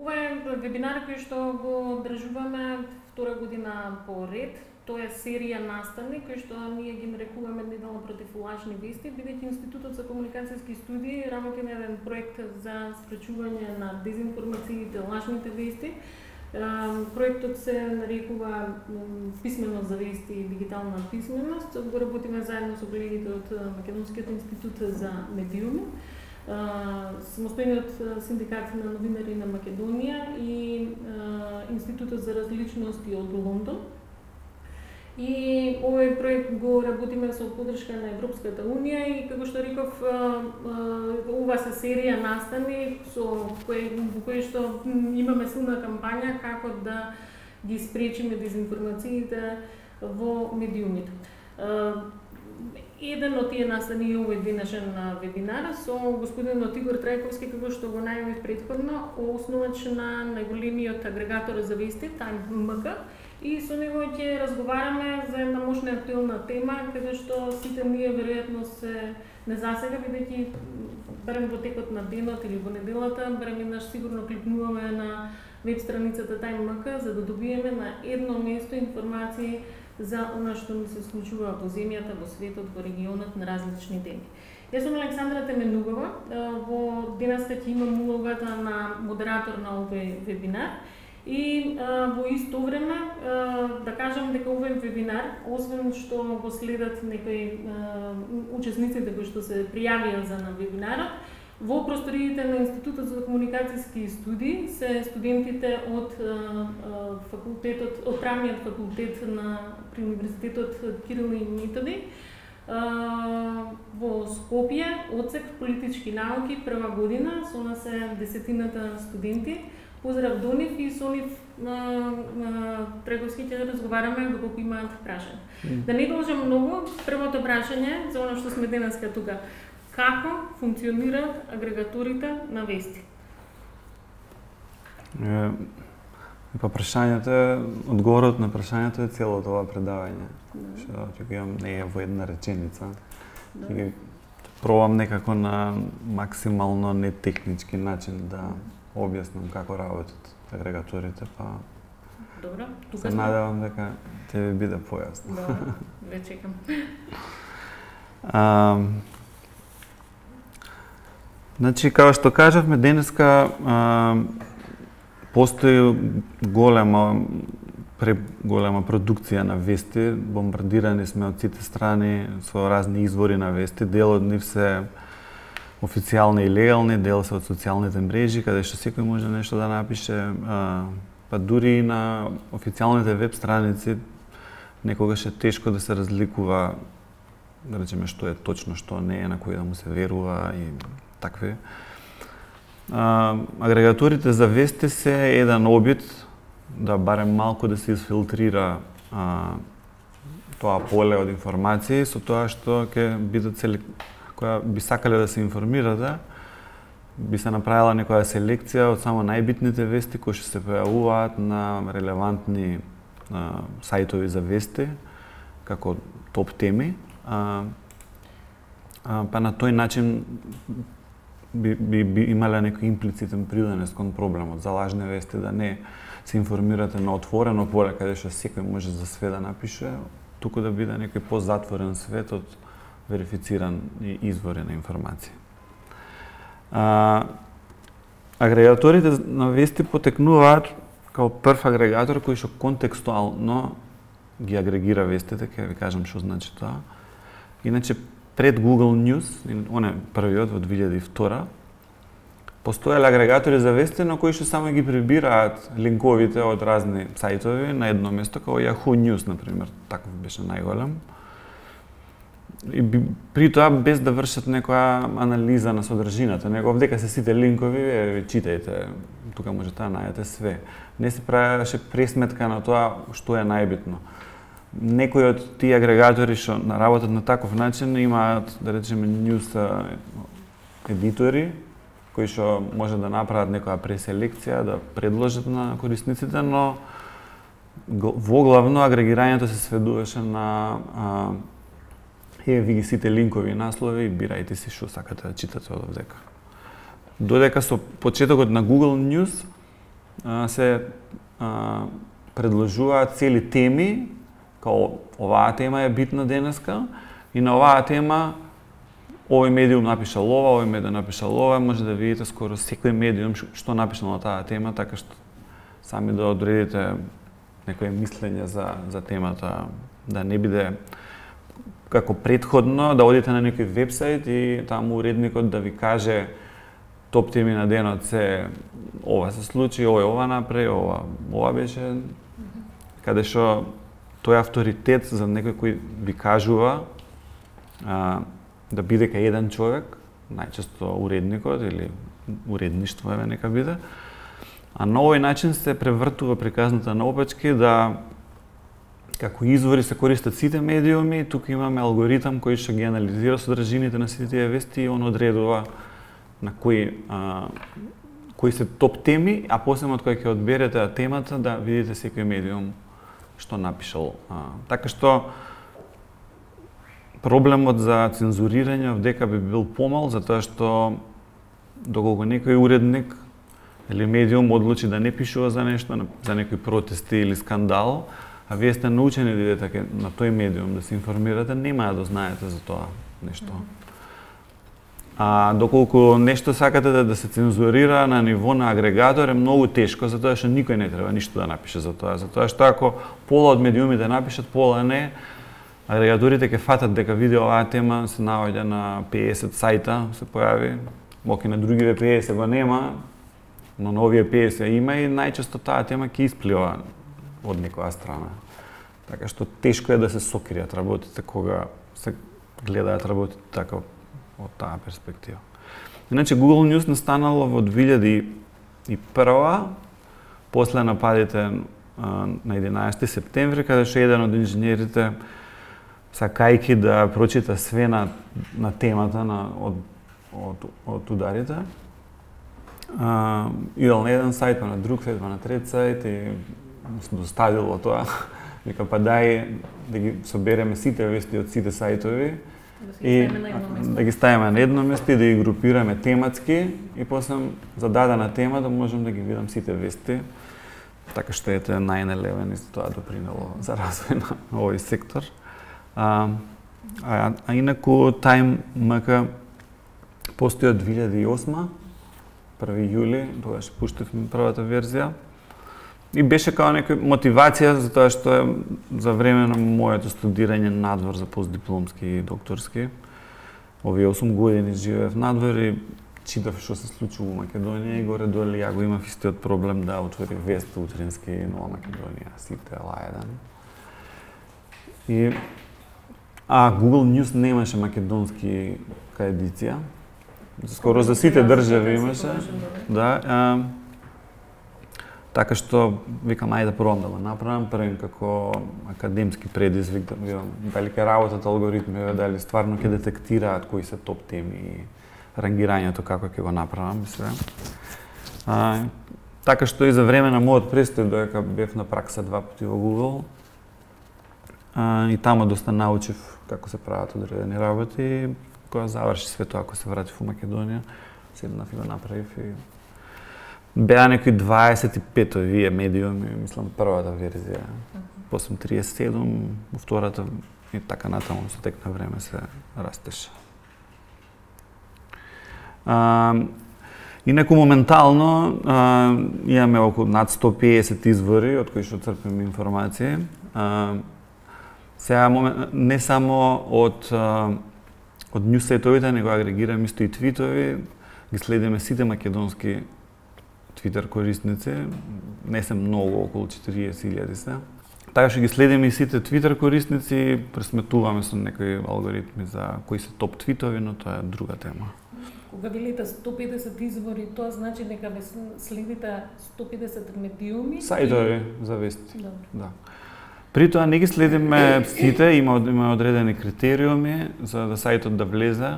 Ова е вебинар кој што го одржуваме втора година по ред. Тоа е серија настани кој што ние ги нарекуваме неделно против лажни вести, бидејќи Институтот за комуникацијски студии работи на еден проект за спречување на дезинформациите, лажните вести. Проектот се нарекува Писменост за вести и дигитална писменост. Го работиме заедно со колегите од Македонскиот институт за медиуми, самостојниот синдикат на новинари на Македонија и Институтот за различности од Лондон. И овој проект го работиме со поддршка на Европската унија и како што реков, ова се серија настани во кој што имаме силна кампања како да ги спречиме дезинформациите во медиумите. Еден од тие настани е овој денешен вебинар со господинот Игор Трајковски, како што го најавив претходно, основач на најголемиот агрегатор за вести, Time.mk, и со него ќе разговараме за една мощна актуелна тема, каде што сите ние веројатно се не засега, бидејќи барем во текот на денот или во неделата, барем еднаш сигурно кликнуваме на веб страницата Time.mk за да добиеме на едно место информации за она што ни се случува во земјата, во светот, во регионот на различни теми. Јас сум Александра Теменугова, во денеска ќе имам улогата на модератор на овој вебинар и во исто време да кажам дека овој вебинар, освен што го следат некои учесниците кои што се пријавија за на вебинарот, во просториите на Институтот за комуникацијски студии се студентите од факултетот, од правниот факултет при Универзитетот Кирил и Методи во Скопје, одсек политички науки, прва година, со нас е десетината студенти. Поздрав до нив и со нив Трајковски ќе разговараме доколку имаат прашања. Да не должам многу, првото прашање за оно што сме денеска тука. Како функционираат агрегаторите на вести? Па прашањето, одговорот на прашањето е целото ова предавање. Што ќе имам не е во една реченица. Ќе пробам некако на максимално нетехнички начин да објаснам како работат агрегаторите, па добро, тука се надевам дека ќе ви биде појасно. Добро, ве чекам. Значи, како што кажавме, денеска постои голема продукција на вести, бомбардирани сме од сите страни со разни извори на вести, дел од нив се официјални и легални, дел се од социјалните мрежи, каде што секој може нешто да напише, па дури и на официјалните веб страници некогаш е тешко да се разликува, да речеме, што е точно, што не е, на кој да му се верува и такви. Агрегаторите за вести се еден обид да барем малку да се изфилтрира тоа поле од информации со тоа што ќе бидат која би сакале да се информирате, би се направила некоја селекција од само најбитните вести кои што се појавуваат на релевантни сајтови за вести, како топ теми. Па на тој начин би имале некој имплицитен придонес кон проблемот за лажни вести, да не се информирате на отворено поле каде што секој може за све да напише, туку да биде некој позатворен свет од верифициран извори на информација. Агрегаторите на вести потекнуваат као прв агрегатор кој што контекстуално ги агрегира вестите, ќе ви кажам што значи тоа. Иначе пред Google News, оне првиот во 2002, постоеле агрегатори за вести на кои што само ги прибираат линковите од разни сајтови на едно место, како Yahoo News, например, таков беше најголем. И при тоа без да вршат некоја анализа на содржината, него дека се сите линкови, читајте, тука можете да најдете све. Не се правеше пресметка на тоа што е најбитно. Некои од тие агрегатори што работат на таков начин имаат, да речеме, ньюс едитори кои што може да направат некоја преселекција, да предложат на корисниците, но воглавно агрегирањето се сведуваше на ви ги сите линкови и наслови, бирајте си што сакате да читате од овдека. Додека со почетокот на Google News се предложуваат цели теми, као оваа тема е битна денеска и на оваа тема овој медиум напишал ова, овој медиум напишал ова, може да видите скоро секој медиум што напишал на таа тема, така што сами да одредите некое мислење за темата, да не биде како претходно, да одите на некој вебсайт и таму уредникот да ви каже топ теми на денот се ова се случи, ова направи, ова беше, каде што тој авторитет за некој кој ви кажува да биде кај еден човек, најчесто уредникот или уредништво нека биде, а на овој начин се превртува приказната наопачки да како извори се користат сите медиуми, тука имаме алгоритам кој што ги анализира содржините на сите тие вести и он одредува на кои се топ теми, а после од кој ќе одберете темата да видите секој медиум што напишал. Така што проблемот за цензурирање дека би бил помал, затоа што доколку некој уредник или медиум одлучи да не пишува за нешто, за некои протести или скандал, а вие сте научени да идете на тој медиум да се информирате, нема да знаете за тоа нешто. А доколку нешто сакате да се цензурира на ниво на агрегатор е многу тешко, затоа што никој не треба ништо да напише за тоа. Затоа што ако пола од медиумите напишат, пола не, агрегаторите ќе фатат дека види оваа тема се наоѓа на 50 сајта, се појави, моки на другиве 50 го нема, но на овие 50 има и најчесто таа тема ќе исплива од некоја страна. Така што тешко е да се сокријат работите кога се гледаат работите така од таа перспектива. Иначе Google News настанало во 2001, после нападите на 11 септември, каде што еден од инженерите сакајки да прочита све на темата од ударите, идел на еден сајт, па на друг сајт, па на трет сајт и доставило тоа. Вика, па дај да ги собереме сите вести од сите сајтови и да ги ставиме на едно место и да ги групираме тематски и после за дадена тема да можам да ги видам сите вести. Така што ете 9/11 и тоа допринело за развој на овој сектор. А инаку Time МК постои од 2008, 1 јули, тогаш пуштивме првата верзија. И беше као некоја мотивација за тоа што за време на моето студирање надвор за постдипломски и докторски. Овие 8 години живеев надвор и читав што се случува во Македонија и горе-долу ја го имав истиот проблем да отворих вест утрински Нова Македонија, сите Л1. Google News немаше македонски едиција. Скоро за сите држави имаше. Да. Така што викам ајде пробам да го направам, правим како академски предизвик, да видам дали ќе работат алгоритмиве, дали стварно ќе детектираат кои се топ теми и рангирањето како ќе го направам и све. Така што и за време на мојот престој додека бев на пракса 2 пати во Google и таму доста научив како се прават одредени работи и кога заврши све тоа, ако се вратив во Македонија, седнав и го направив и беа некои 25 овие медиуми, мислам првата верзија, после 37, во втората и така натаму со тек на време се растеше. Инаку моментално имаме околу над 150 извори од кои што црпиме информации. Сега не само од нјус сајтовите, него агрегираме исто и твитови, ги следиме сите македонски Twitter корисници, не се многу, околу 40.000 се. Така што ги следиме и сите Twitter корисници, пресметуваме со некои алгоритми за кои се топ твитови, но тоа е друга тема. Кога велите 150 извори, тоа значи дека ве следите 150 медиуми? Сајтови за вести. Да. При тоа не ги следиме сите, има одредени критериуми за да сајтот да влезе,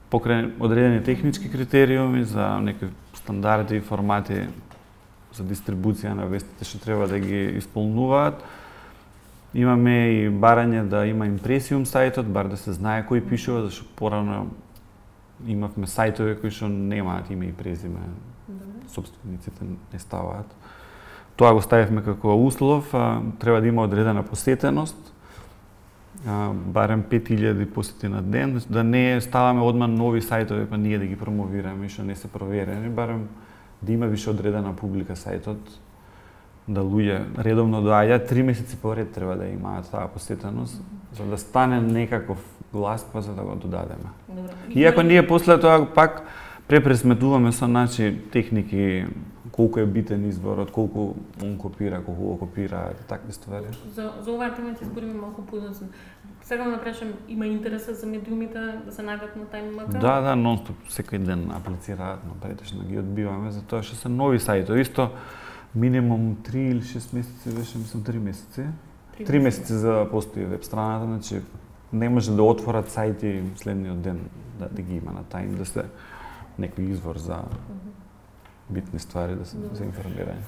покрај одредени технички критериуми за некои стандарди и формати за дистрибуција на вестите што треба да ги исполнуваат. Имаме и барање да има импресиум сајтот, бар да се знае кој пишува, зашто порано имавме сајтови кои што немаат име и презиме собствениците не ставаат. Тоа го ставивме како услов, треба да има одредена посетеност, барем 5000 посети на ден, да не ставаме одма нови сајтови па ние да ги промовираме што не се проверени, барем да има више одредена публика сајтот, да луѓе редовно доаѓаат, 3 месеци поред треба да имаат таа посетеност, за да стане некаков глас, па за да го додадеме. Иако ние после тоа пак препресметуваме со техники, колку е битен изборот, колку он копира, колку го копира, такви ствари. За оваа тема ќе збориме малку подоцна. Сега да прашам, има интереса за медиумите да се најдат на TimeMG? Да, нон-стоп, секој ден аплицираат, но претежно ги одбиваме, затоа што се нови сајтови. Исто минимум 3 или 6 месеци, беше мислам 3 месеци. 3 месеци за да постои веб страната, значи не може да отворат сајти следниот ден да ги има на Time, да се некој извор за битни ствари да се информирање.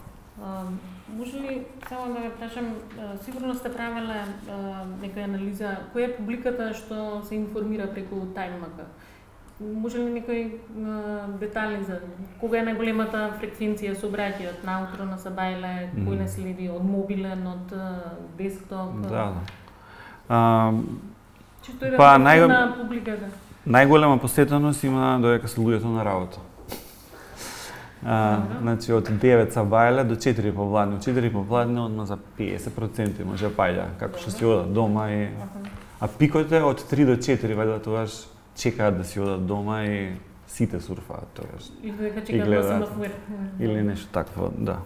Може ли само да ве прашам, сигурно сте правеле некоја анализа, која е публиката што се информира преку TimeMG? Може ли некои детали за кога е најголемата фреквенција со обраќајот наутро на Сабајле, кој не следи од мобилен, од десктоп? Да. Чисто е на публиката. Најголема посетеност има додека се луѓето на работа. Значи од 9 Сабајле до 4 попладне. Од 4 попладне одма за 50% може паѓа, како што си одат дома и а пикот е од 3 до 4, вајде тогаш чекаат да си одат дома и сите сурфаат тогаш. И гледаат или нешто такво, да.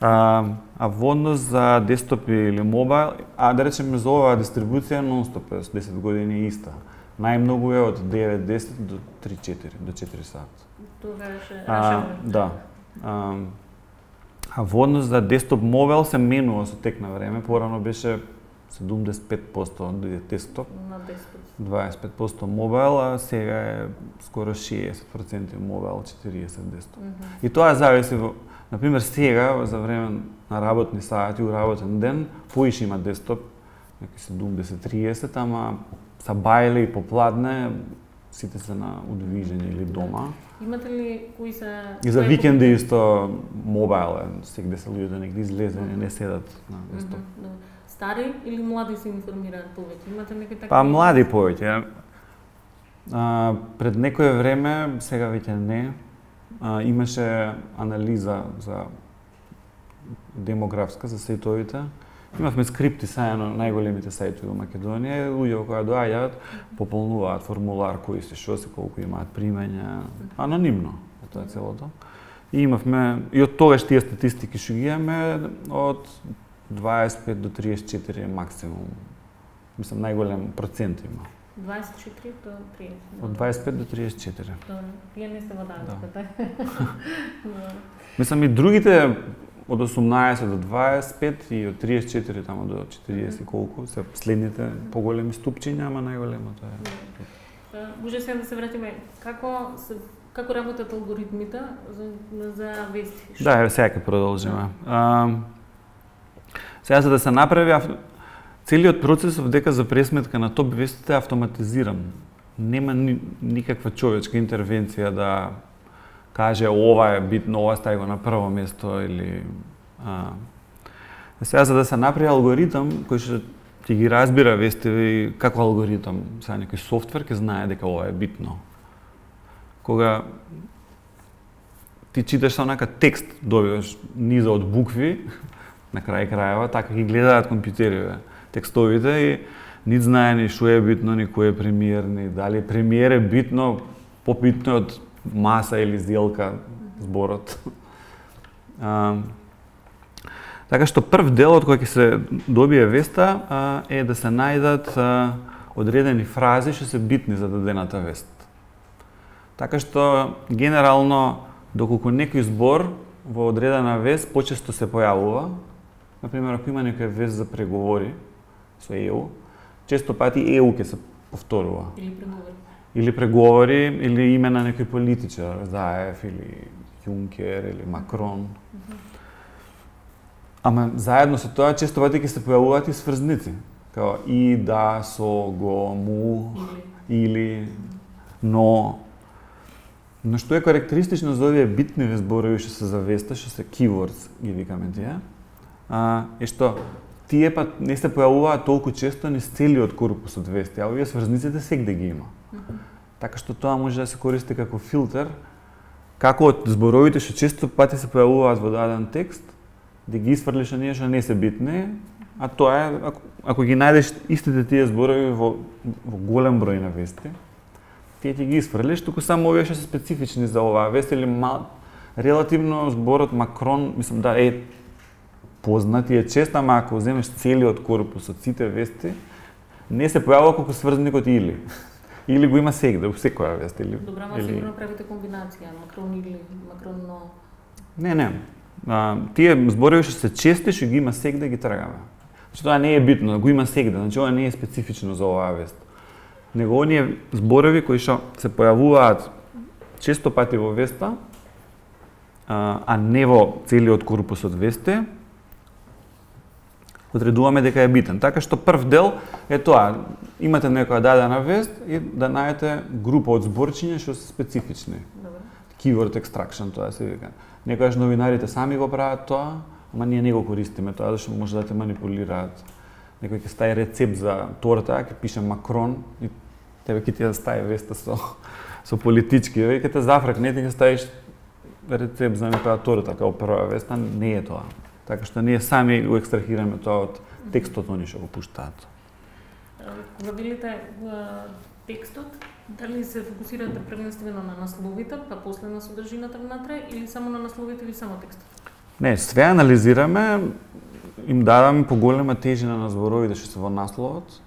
А во однос за десктоп или мобайл, да речеме за оваа дистрибуција нон-стоп 10 години иста. Најмногу е од 9-10 до 3-4, до 4 сат. Тогаш рашаваме. Да. А во однос за десктоп мобайл се менува со тек на време, порано беше 75% десктоп, 25% мобайл, а сега е скоро 60% мобайл, 40% десктоп. И тоа зависи, например, сега за време на работни сати, у работен ден, поише има десктоп, неки 70-30, ама Сабајле и попладне сите се на удвижење или дома. Имате ли кои се... И за викенди исто мобайл е, сегде се луѓето негде излезени, не седат на десктоп. Стари или млади се информираат повеќе? Имате некои такви? Па млади повеќе. Пред некое време, сега веќе не, имаше анализа за демографска за сајтовите. Имавме скрипти сајано најголемите сајтови во Македонија, луѓе кои доаѓаат, пополнуваат формулар кои се што се, колку имаат примања, анонимно тоа целото. И имавме и од тогаш тие статистики што ги имаме од 25 до 34 максимум. Мислам најголем процент има. 24 до 30. Од 25 до 34. Добро. Вие не сте во данската. Мислам и другите од 18 до 25 и од 34 тамо до 40 колку се следните поголеми ступчиња, ама најголемото е. Може сега да се вратиме како работат алгоритмите за вести? Да, сега ќе продолжиме. Сега за да се направи целиот процес дека за пресметка на топ вестите е автоматизиран. Нема никаква човечка интервенција да каже ова е битно, ова стави го на прво место или сега за да се направи алгоритам кој што ќе ги разбира вестиви како алгоритам, сега некој софтвер ќе знае дека ова е битно. Кога ти читаш онака текст, добиваш низа од букви, на крај крајава, така ги гледаат компјутериве текстовите и нит знае ни што е битно, ни кој е премиер, ни дали премиер е битно, побитно од маса или сделка зборот. Така што прв дел од кој ќе се добие веста е да се најдат одредени фрази што се битни за дадената вест. Така што генерално доколку некој збор во одредена вест почесто се појавува, например ако има некоја вест за преговори со ЕУ, често пати ЕУ ќе се повторува. Или преговори, или име на некој политичар, Заев или Јункер или Макрон. Ама заедно со тоа често пати ќе се појавуваат и сврзници, као и, да, со, го, му, или, но. Но што е карактеристично за овие битни зборови што се за веста, што се keywords ги викаме тие, е што тие па не се појавуваат толку често низ целиот корпус од вести, а овие сврзниците сегде ги има. Така што тоа може да се користи како филтер, како од зборовите што често пати се појавуваат во даден текст, да ги исфрлиш оние што не се битни, а тоа е ако ги најдеш истите тие зборови во голем број на вести, тие ти ги исфрлиш, туку само овие што се специфични за оваа вест или релативно зборот Макрон, мислам да е познат и е чест, ама ако земеш целиот корпус од сите вести, не се појавува колку сврзникот или. Или го има сегде, во секоја вест или. Добра, ама сигурно правите комбинација, Макрон или Макронно. Не. Тие зборови што се чести, што ги има сегде, ги трагаме. Значи тоа не е битно, го има сегде, значи ова не е специфично за оваа вест. Него оние зборови кои што се појавуваат често пати во веста, а не во целиот корпус од вести, одредуваме дека е битен. Така што прв дел е тоа, имате некоја дадена вест и да најдете група од зборчиња што се специфични. Keyword extraction, тоа се вика. Некојаш новинарите сами го прават тоа, ама ние не го користиме тоа, зашто може да те манипулираат. Некој ќе стави рецепт за торта, ќе пише Макрон и тебе ќе ти да стави веста со политички, и ќе те зафракне, ти ќе ставиш рецепт за некоја торта како прва веста, не е тоа. Така што ние сами го екстрахираме тоа од текстот они што го пуштаат. Кога видите текстот, дали се фокусирате првенствено на насловите, па после на содржината внатре, или само на насловите или само текстот? Не, све анализираме, им даваме поголема тежина на зборовите што се во насловот,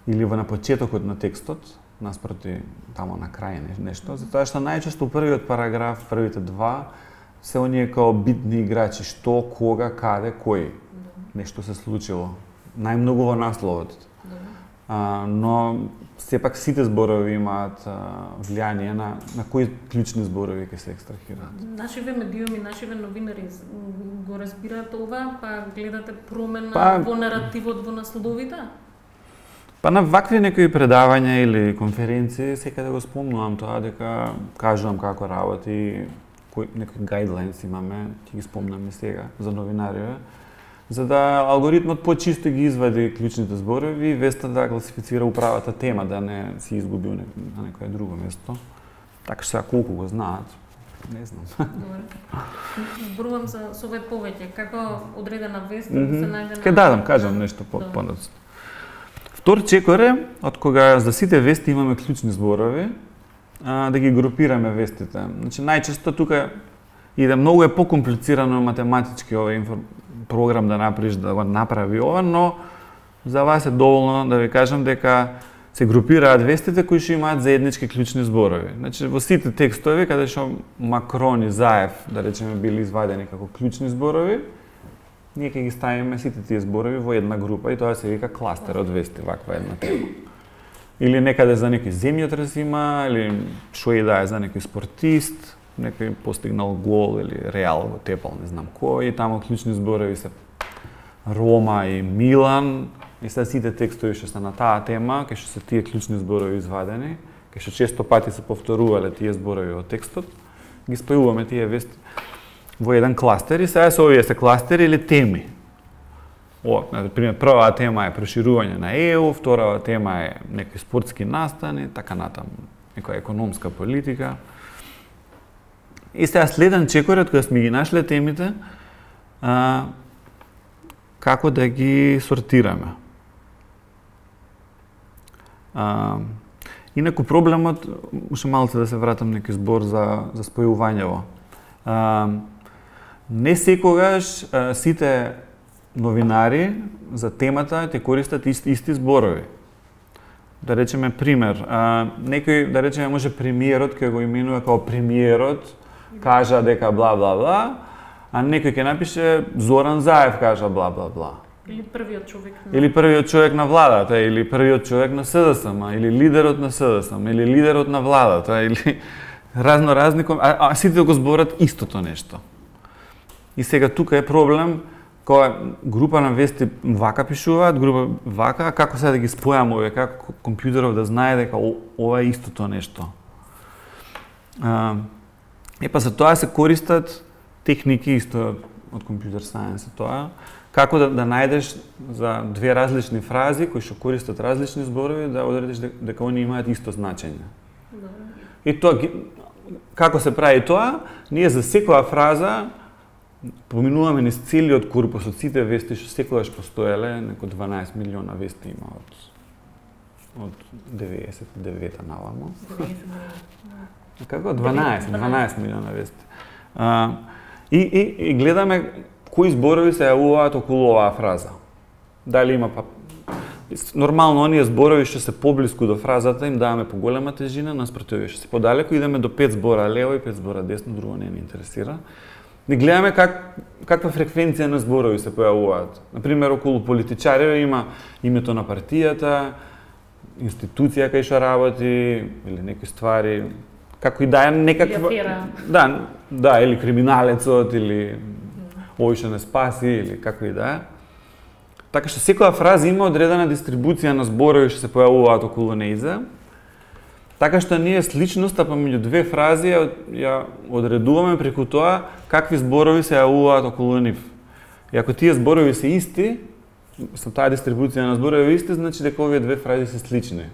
или во на почетокот на текстот, наспроти тамо на крај нешто, затоа што најчесто првиот параграф, првите два, се оние као битни играчи, што, кога, каде, кој нешто се случило. Најмногу во насловот. Но сепак сите зборови имаат влијание на кои клучни зборови ќе се екстрахираат. Нашиве медиуми, нашиве новинари го разбираат ова, па гледате промена во наративот во насловите? Па на вакви некои предавања или конференции секаде го спомнувам тоа, дека кажувам како работи, некои гайдлайнс имаме, ќе ги спомнаме сега за новинариве, за да алгоритмот почисто ги извади клучните зборови и веста да класифицира управата тема, да не си изгуби на некое друго место. Така што колку го знаат, не знам. Зборувам за совет повеќе, како одредена вест да се најде на... Ке дадам, кажам нешто понатаму. Втор чекор е, од кога за сите вести имаме клучни зборови, да ги групираме вестите. Значи најчесто тука иде многу е покомплицирано математички овој програм да направиш да го направи ова, но за вас е доволно да ви кажам дека се групираат вестите кои што имаат заеднички клучни зборови. Значи во сите текстови каде што Макрон и Заев, да речеме, били извадени како клучни зборови, ние ќе ги ставиме сите тие зборови во една група и тоа се вика кластер од вести, ваква една тема. Или некаде за некој земјотрес има, или што и да е за некој спортист, некој постигнал гол или Реал го тепал, не знам кој, и тамо клучни зборови се Рома и Милан, и се сите текстови што се на таа тема, кај што се тие клучни зборови извадени, кај што често пати се повторувале тие зборови во текстот, ги спојуваме тие вести во еден кластер и сега се овие се кластери или теми. Например, првата тема е проширување на ЕУ, втората тема е некои спортски настани, така натаму, некоја економска политика. И сега следен чекорот кога сме ги нашле темите, како да ги сортираме. Инаку проблемот, уште малце да се вратам некој збор за спојувањево. Не секогаш сите новинари за темата те користат исти зборови. Да речеме пример, некој, да речеме, може премиерот кој го именува како премиерот, кажа дека бла бла бла, а некој ќе напише Зоран Заев кажа бла бла бла. Или првиот човек на... Или првиот човек на владата, или првиот човек на СДСМ, или лидерот на СДСМ, или лидерот на владата, или разни, а сите го зборат истото нешто. И сега тука е проблем, кога група на вести вака пишуваат, група вака, а како сега да ги спојаме овие, како компјутеров да знае дека ова е истото нешто. Епа за тоа се користат техники исто од компјутер сајенс, тоа како да најдеш за две различни фрази кои што користат различни зборови да одредиш дека они имаат исто значење. И тоа како се прави тоа? Ние за секоја фраза поминуваме низ целиот корпус од сите вести што секогаш постоеле, неко 12 милиона вести има од 99-та наваму. Како 12 милиона вести. И гледаме кои зборови се јавуваат околу оваа фраза. Дали има нормално оние зборови што се поблиску до фразата им даваме поголема тежина, наспроти овие што се подалеку идеме до 5 збора лево и 5 збора десно, друго не ни интересира. И гледаме каква фреквенција на зборови се појавуваат. Например, околу политичари има името на партијата, институција кај што работи или некои ствари, како и да е некаква да, или криминалецот или овој што не спаси или како и да е. Така што секоја фраза има одредена дистрибуција на зборови што се појавуваат околу нејза. Така што ние сличноста помеѓу две фрази ја одредуваме преку тоа какви зборови се јавуваат околу нив. И ако тие зборови се исти, со таа дистрибуција на зборови исти, значи дека овие две фрази се слични.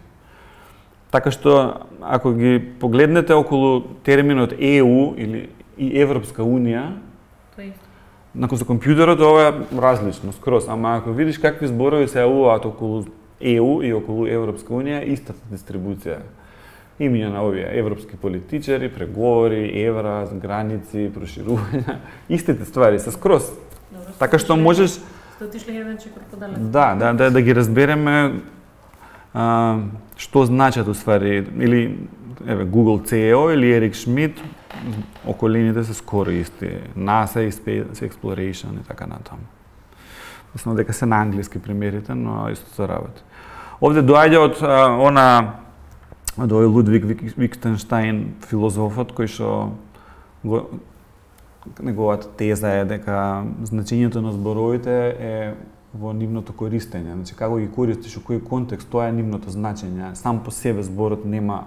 Така што ако ги погледнете околу терминот EU или и Европска унија, за компјутерот ова е различно скроз, ама ако видиш какви зборови се јавуваат околу EU и околу Европска унија, истата дистрибуција. Имиња на овие европски политичари, преговори, евра, граници, проширувања, истите ствари се скроз. Така што можеш да ги разбереме што значат уствари или Google CEO или Ерик Шмидт, околините се скоро исти. NASA и Space Exploration и така натаму. Мислам дека се на англиски примерите, но исто се работи. Овде доаѓа од од овој Лудвиг Виктенштајн, филозофот, кој што неговата теза е дека значењето на зборовите е во нивното користење. Значи, како ги користиш, во кој контекст, тоа е нивното значење. Сам по себе зборот нема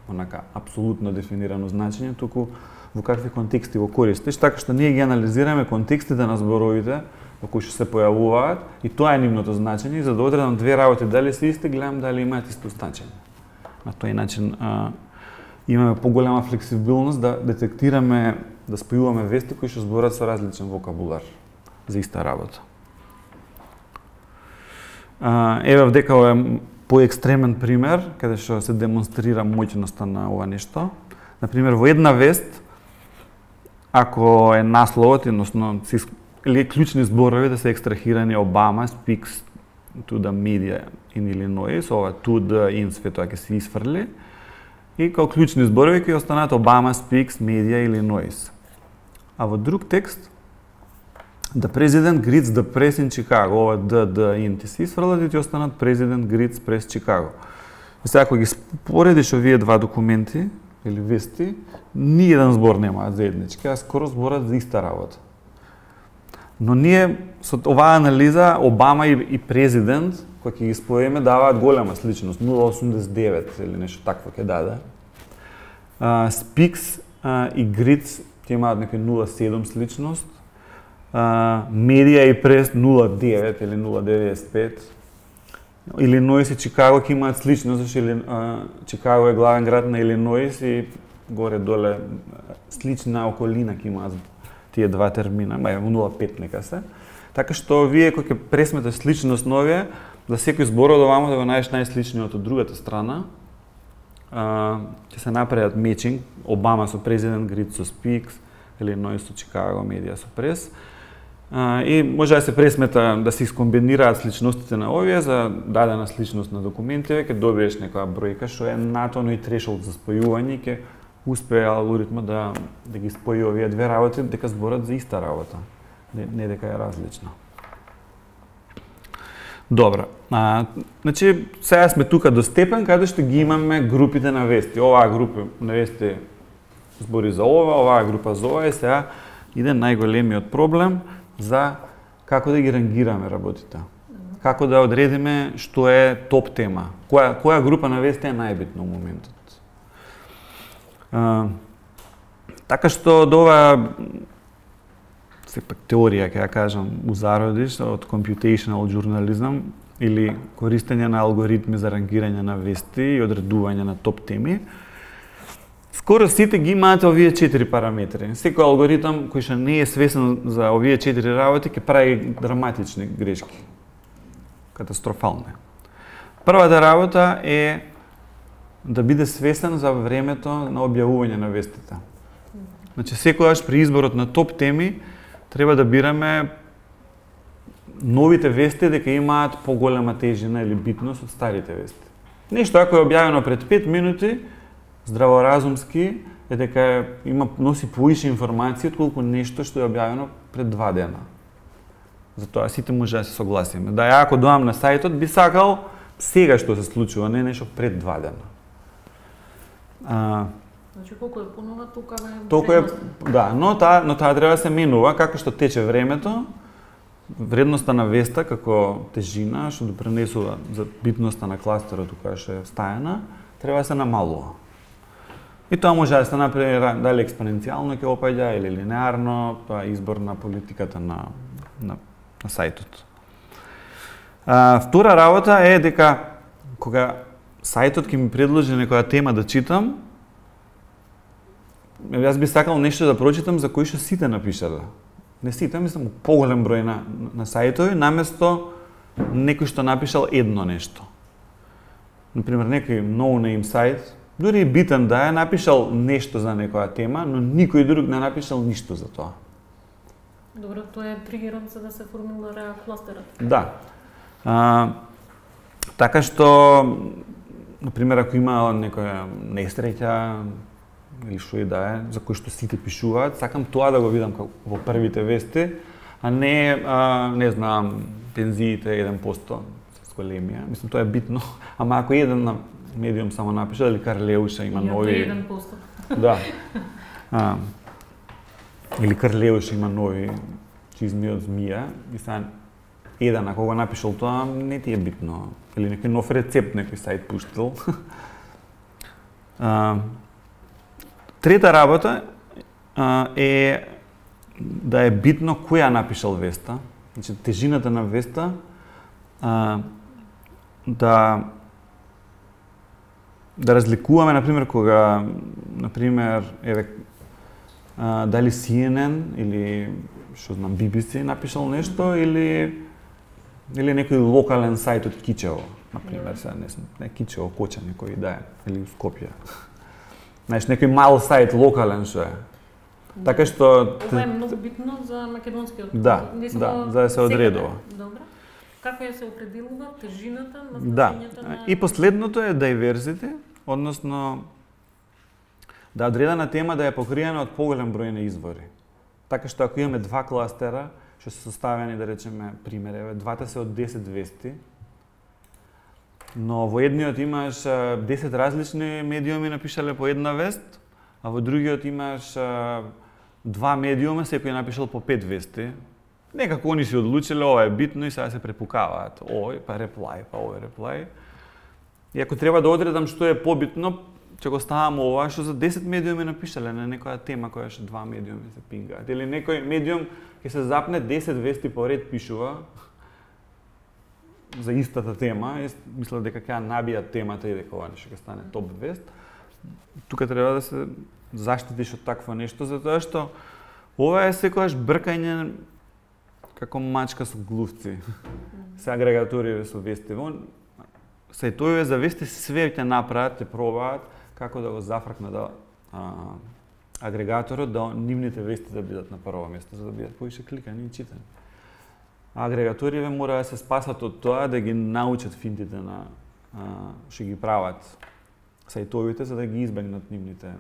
онака апсолутно дефинирано значење, туку во какви контексти го користиш, така што ние ги анализираме контекстите на зборовите во кои што се појавуваат и тоа е нивното значење и за да одредам две работи дали се исти, гледам дали имаат исто значење. На тој начин имаме поголема флексибилност да детектираме, да спојуваме вести кои што зборат со различен вокабулар за иста работа. Еве вдека е поекстремен пример, каде што се демонстрира моќноста на ова нешто. Например, во една вест, ако е насловот, односно или клучни зборови да се екстрахирани Obama speaks to the media in Illinois, ова to the in свето ќе се исфрли, и као клучни зборови ќе останат Obama speaks media Illinois. А во друг текст, the president greets the press in Chicago, ова the in ти се исфрлат и ти останат president greets press Chicago. И сега ако ги споредиш овие два документи или вести, ни еден збор немаат заеднички, а скоро зборат за иста работа. Но ние со оваа анализа Обама и президент, кои ќе ги споеме, даваат голема сличност, 0,89 или нешто такво ќе даде. Speaks и Greets ќе имаат некој 0,7 сличност. Медија и Прес 0,9 или 0,95. Илиноис и Чикаго ќе имаат сличност, зашто Чикаго е главен град на Илиноис и горе-доле слична околина ќе имаат тие два термина, 0,5 нека се. Така што вие кои ќе пресметаш сличност на овие, за секој збор од овамо да го најдеш најсличниот од другата страна, ќе се направат мечинг, Обама со президент, Грид со Speaks, Илиноис со Чикаго, Медија со Прес. И може да се пресмета, да се искомбинираат сличностите на овие за дадена сличност на документите, ќе добиеш некоја бројка што е натоно и трешолд за спојување и ќе успее алгоритмот да ги спои овие две работи, дека зборат за иста работа, не дека е различна. Добро. Значи, сега сме тука до степен каде што ги имаме групите на вести. Оваа група на вести збори за ова, оваа група за ова и сега иде најголемиот проблем за како да ги рангираме работите. Како да одредиме што е топ тема. Која група на вести е најбитна во моментот. Така што од ова сепак теорија, ќе ја кажам, у зародиш од computational journalism или користење на алгоритми за рангирање на вести и одредување на топ теми, скоро сите ги имаат овие 4 параметри. Секој алгоритам кој што не е свесен за овие 4 работи ќе прави драматични грешки. Катастрофални. Првата работа е да биде свесен за времето на објавување на вестите. Значи, секогаш при изборот на топ теми треба да бираме новите вести дека имаат поголема тежина или битност од старите вести. Нешто ако е објавено пред 5 минути, здраворазумски е дека носи поише информации отколку нешто што е објавено пред 2 дена. Затоа сите може да се согласиме. Да, ја ако доам на сајтот би сакал сега што се случува, не нешто пред 2 дена. Значи колку е понова, толку е, да, но таа треба да се менува како што тече времето. Вредноста на веста како тежина што допринесува за битноста на кластерот која што е стајана, треба да се намалува. И тоа може да се направи дали експоненцијално ќе опаѓа или линеарно, тоа е избор на политиката на сајтот. Втора работа е дека кога сајтот ќе ми предложи некоја тема да читам, јас би сакал нешто да прочитам за кој што сите напишале. Не сите, мислам, поголем број на сајтови, наместо некој што напишал едно нешто. Например, некој no-name сајт, дури и битен да е, напишал нешто за некоја тема, но никој друг не напишал ништо за тоа. Добро, тоа е тригерот за да се формулира кластерот. Да. Така што, например, ако има некоја несреќа, или што и да е, за кој што сите пишуваат, сакам тоа да го видам во првите вести, а не знам, пензиите 1% со големија. Мислам, тоа е битно. Ама ако еден на медиум само напише, дали Карлеуша има нови... 1%. Да. Или Карлеуша има нови чизми од змија, и сега еден, ако го напишал тоа, не ти е битно. Или некој нов рецепт некој сајт пуштил. Трета работа е да е битно кој ја напишал веста, значи тежината на веста, да разликуваме, например, кога, например, дали CNN или што знам BBC напишал нешто или некој локален сајт од Кичево, например, сега не Кичево, Коча некој да е, или Скопје. Знаеш, некој мал сајт локален што е. Така што ова е многу битно за македонскиот. Да, за да се одредува. Добро. Како ја се определува тежината на значењето на... И последното е diversity, односно да одредена тема да е покриена од поголем број на извори. Така што ако имаме 2 кластера што се составени, да речеме, пример, двата се од 10 вести, но во едниот имаш 10 различни медиуми напишале по една вест, а во другиот имаш 2 медиума, секој напишал по 5 вести. Некако они си одлучиле, ова е битно и сега се препукаваат. Овој, па реплај, па овој реплај. И ако треба да одредам што е побитно, ќе го ставам ова што за 10 медиуми напишале на некоја тема која што 2 медиуми се пингаат. Или некој медиум ќе се запне 10 вести поред пишува за истата тема, мисля дека ќе набија темата и дека ова нешто ќе стане топ вест. Тука треба да се заштитиш од такво нешто, затоа што ова е секогаш бркање како мачка со глувци. Се агрегаториве со вести. Сајтовиве за вести све ќе направат, ќе пробаат како да го зафркнат агрегаторот да нивните вести да бидат на прво место, за да бидат поише кликани и читани. Агрегаториве мора да се спасат од тоа да ги научат финтите на што ги прават сајтовите за да ги избегнат нивните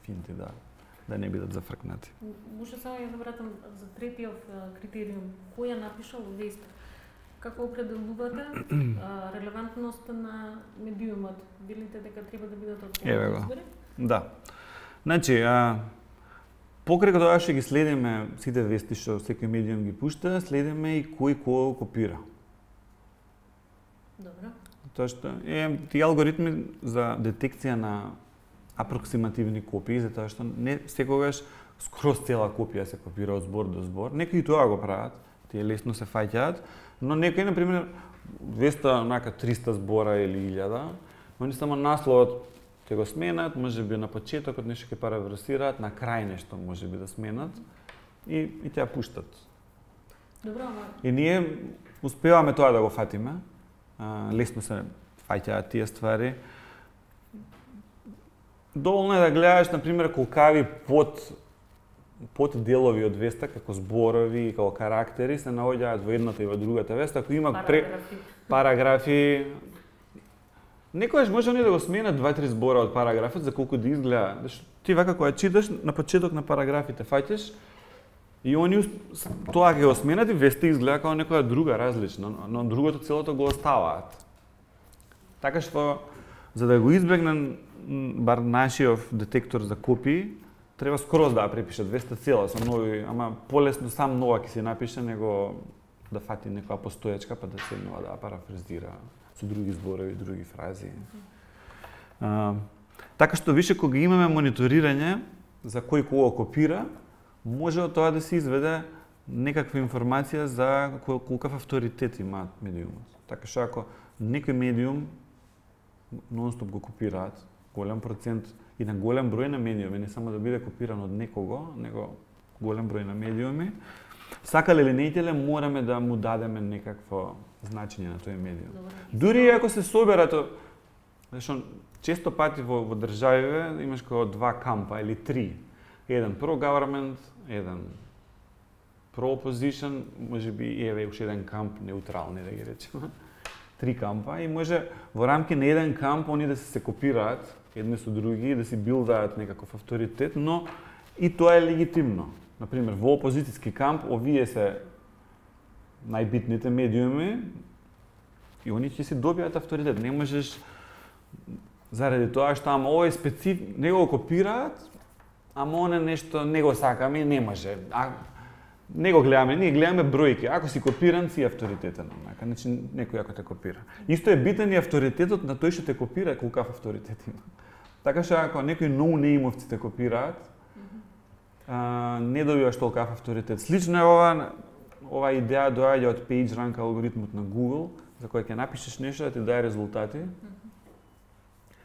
финти, да не бидат зафркнати. Може само ја да вратам за третиот критериум, кој ја напишал веста? Како определувате релевантноста на медиумот? Велите дека треба да бидат од извори? Да. Значи, покрај тоа што ги следиме сите вести што секој медиум ги пушта, следиме и кој кого копира. Добро. Тоа што тие алгоритми за детекција на апроксимативни копии, затоа што не секогаш скроз цела копија се копира од збор до збор. Некои тоа го прават, тие лесно се фаќаат, но некои, например, 200-300 збора или 1000, они само насловот ќе го сменат, можеби на почетокот нешто ќе параврасираат, на крај нешто можеби да сменат и ќе ја пуштат. Добро, и ние успеваме тоа да го фатиме. Лесно се фаќаат тие ствари. Доволно е да гледаш, например, колкави под делови од веста, како зборови и како карактери, се наоѓаат во едната и во другата веста. Ако има параграфи, некојаш може они да го сменат 2-3 збора од параграфот за колку да изгледа. Ти вака кога читаш, на почеток на параграфите фаќаш и они тоа ќе го сменат и веста изгледа како некоја друга различна, но другото целото го оставаат. Така што, за да го избегнем бар нашиот детектор за копии, треба скроз да ја препишат веста цела со нови, ама полесно сам нова ќе се напише него да фати некоја постоечка па да седнува да ја парафразира со други зборови, други фрази. Така што више кога имаме мониторирање за кој кого копира, може од тоа да се изведе некаква информација за колкав авторитет имаат медиумот. Така што ако некој медиум нонстоп го копираат, голем процент и на голем број на медиуми, не само да биде копиран од некого, него голем број на медиуми, сакале или не ителе, мораме да му дадеме некакво значење на тој медиум. Дури ако се соберат, зашто често пати во државиве имаш како 2 кампа или 3. Еден pro-government, еден pro-opposition, можеби еве уште еден камп неутрални да ги речеме. 3 кампа и може во рамки на еден камп они да се копираат едни со други и да си билдаат некаков авторитет, но и тоа е легитимно. Например, во опозицијски камп овие се најбитните медиуми и они ќе си добијат авторитет. Не можеш заради тоа што ама овој специфик не го копираат, ама оне нешто не го сакаме и не може. Не го гледаме, ние гледаме бројки. Ако си копиран, си авторитетен. Значи, некој ако те копира. Исто е битен и авторитетот на тој што те копира, колкав авторитет има. Така што ако некои ноунеимовци те копираат, не добиваш толкав авторитет. Слично е ова идеја доаѓа од PageRank алгоритмот на Google, за кој ќе напишеш нешто да ти даде резултати.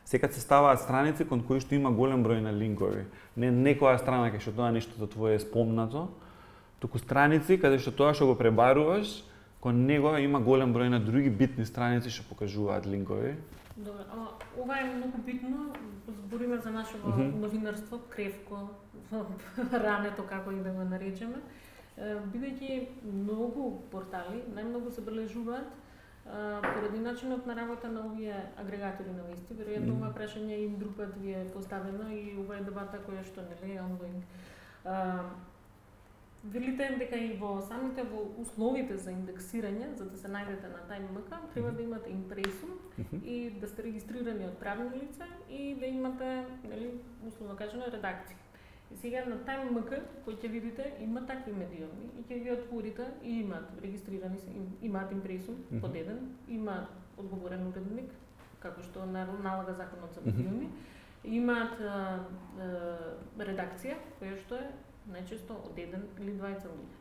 Секад се ставаат страници кон кои што има голем број на линкови. Не некоја страна кај што тоа нештото твое е спомнато, туку страници каде што тоа што го пребаруваш, кон него има голем број на други битни страници што покажуваат линкови. Добро, ама ова е многу битно, збориме за нашето новинарство, кревко, рането како и да го наречеме, бидејќи многу портали најмногу се бележуваат поради начинот на работа на овие агрегатори на вести. Веројатно ова прашање и друг пат ви е поставено и ова е дебата која што не е ongoing. Велите дека и во самите во условите за индексирање, за да се најдете на TimeMK, треба да имате импресум и да сте регистрирани од правни лица и да имате, нели, условно кажано, редакција. И сега на TimeMK, кој ќе видите, има такви медиуми и ќе ги отворите и имаат регистрирани, имаат импресум под еден, имаат одговорен уредник, како што налага законот за медиуми, имаат редакција, која што е најчесто од еден или двајца луѓе.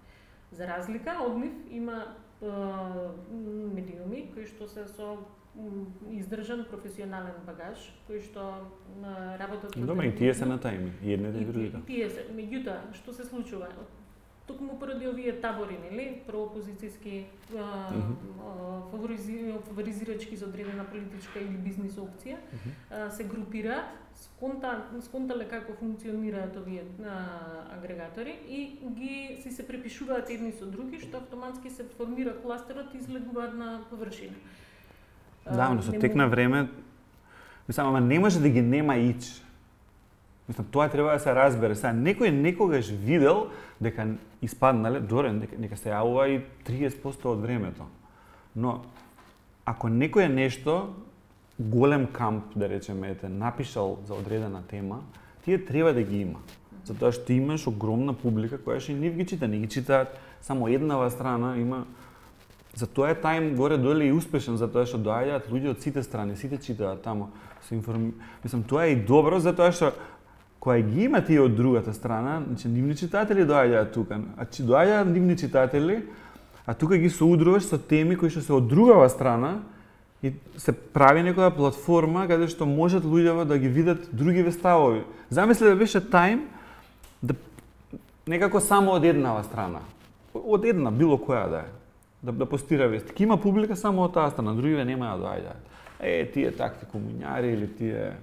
За разлика од нив има медиуми кои што се со издржан професионален багаж, кои што работат со... Добре, и тие се на тајми, и едните и другите. И тие се, меѓутоа, што се случува? Токму поради овие табори, нели, проопозицијски, фаворизирачки за одредена политичка или бизнис опција, се групираат, сконтале како функционираат овие агрегатори и ги се препишуваат едни со други, што автоматски се формира кластерот и излегуваат на површина. Да, но со тек на време, мислам, ама не може да ги нема ич. Мислам, тоа треба да се разбере. Сега, некој некогаш видел дека испаднале, добре, нека се јавува и 30% од времето. Но, ако некој е нешто, голем камп, да речеме, напишал за одредена тема, тие треба да ги има. Затоа што имаш огромна публика која што и нив ги чита, не ги читаат само еднава страна, има Затоа е Time горе-доле и успешен, затоа што доаѓаат луѓе од сите страни, сите читаат таму, Мислам, тоа е и добро, затоа што кога ги има тие од другата страна, значи нивни читатели доаѓаат тука, доаѓаат нивни читатели, а тука ги соудруваш со теми кои што се од другава страна и се прави некоја платформа каде што можат луѓето да ги видат другиве ставови. Замисли да беше Time да некако само од еднава страна, од една било која да е, да постира вести. Ки има публика само од таа страна, другиве нема да доаѓаат. Тие такви комуњари или тие